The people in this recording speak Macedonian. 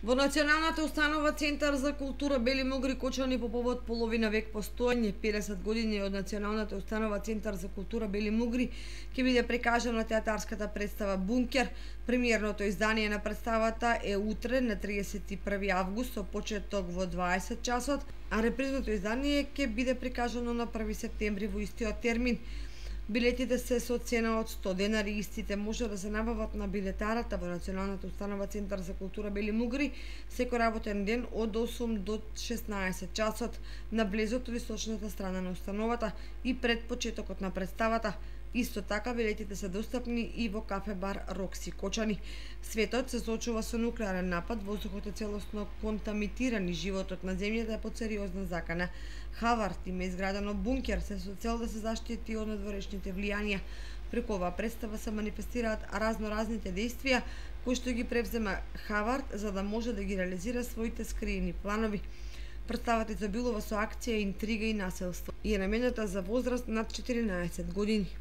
Во Националната установа Центар за култура Бели Могри Кочани по повод половина век постоење, 50 години од Националната установа Центар за култура Бели Могри, ќе биде прикажана театарската представа Бункер. Премиерното издание на представата е утре на 31 август со почеток во 20 часот, а репризното издание ќе биде прикажано на 1 септември во истиот термин. Билетите се со цена од 100 денари, истите може да се набават на билетарата во Националната установа Центар за култура Бели Могри секој работен ден од 8 до 16 часот на близото од источната страна на установата и пред почетокот на представата. Исто така билетите се достапни и во кафе-бар Рокси Кочани. Светот се соочува со нуклеарен напад, воздухот е целосно контаминиран и животот на земјата е под сериозна закана. Хавард има изградено бункер се со цел да се заштити од надворешните влијанија. Преку оваа представа се манифестираат разноразните действија кои што ги превзема Хавард за да може да ги реализира своите скриени планови. Представата изобилува со акција, интрига и насилство и е наменета за возраст над 14 години.